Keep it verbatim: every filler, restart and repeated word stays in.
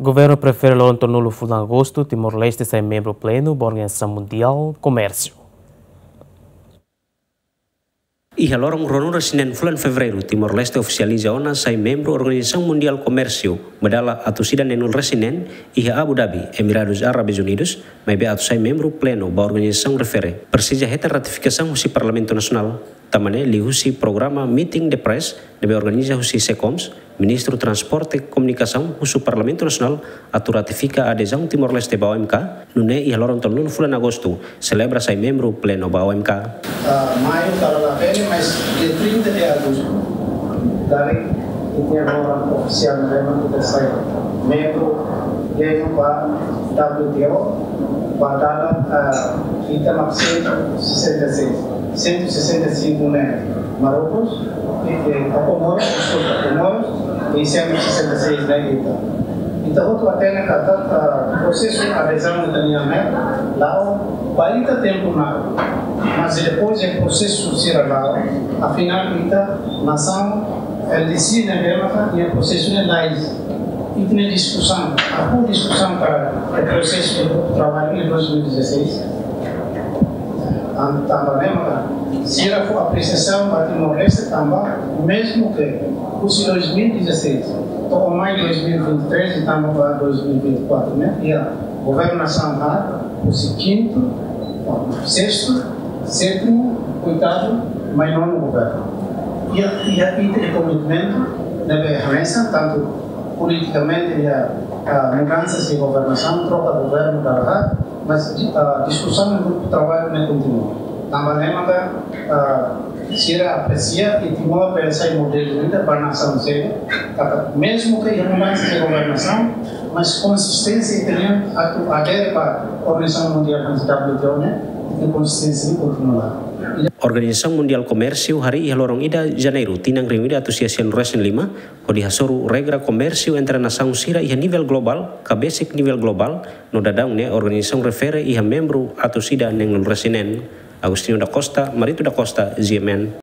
Governu prefere loron tolunulu fulan Agostu, Timor-Leste sai membru plenu ba Organizasaun Mundiál Komérsiu. Iha loron ruanulu-resin-neen fulan Fevereiru, Timor-Leste ofisializa ona sai membru Organizasaun Mundiál Komérsiu, ba dala atus ida neenulu-resin-neen, iha Abu Dhabi, Emiradus Árabes Unidus, maibé atu sai membru plenu ba organizasaun refere, presiza hetan ratifikasaun husi Parlamentu Nasionál. Tanba ne'e liuhusi programa Meeting the Press ne'ebé organiza husi SEKOMS, Ministru Transporte Komunikasaun husu Parlamentu Nasionál atu ratifika adezaun Timor-Leste ba O M K, nune'e iha loron tolunulu fulan Agostu selebra sai membru plenu ba O M K. Ah, maiu tara la bele, mas dia trinta de agosto, dari ita-nia loron ofisiál ne'ebé mak ita sai membru plenu ba W T O, ba dala, ah, ita mak cento e sessenta e seis, cento e sessenta e cinco ne'e Marrocos, e, e, a Comoro, desculpa, Comoro, e cento e sessenta e seis ne'e ita. Ita hotu hatene katak, ah, prosesu adezaun ita-nian ne'e la'o ba ita tempu na'ok. Mas depois de prosesu sira la'o, afinál ita nasaun L D C ne'ebé maka nia prosesu ne'e lais. Ita-nia diskusaun, aku diskusaun para o prosesu de grupu traballu de dois mil e dezasseis. An-, tanba ne'e maka sira fó apresiasaun ba Timor-Leste tanba, mezmu ke husi dois mil e dezasseis to'o mai dois mil e vinte e três, tanba ba dois mil e vinte e quatro ne'e, iha governasaun haat, husi kintu, sestu, sétimu, oitavu, mai nonu governu. Iha, iha ita-nia komitmentu ne'ebé hanesan, tantu politikamente iha, ah, mudansa husi governasaun, troka governu dala haat, mas di-, ah, diskusaun no grupu traballu ne'e kontinua. Tanba ne'e maka, ah, sira apresia i Timor bele sai modelu ida ba nasaun seluk, katak mezmu ke iha mudansa husi governasaun, mas konsisténsia ita-nian atu adere ba Organizasaun Mundiál hanesan W T O ne'e, i konsisténsia ne'e kontinua. Organizasaun Mundiál Komérsiu harii iha loron ida Janeiru tinan rihun ida atus sia sianulu-resin-lima, hodi hasoru regra komérsiu entre nasaun sira iha nivel globál, ka besik nivel globál, no daudaun ne'e organizasaun refere iha membru atus ida neenulu-resin-neen. Agostinho da Costa, Marito da Costa, G M N.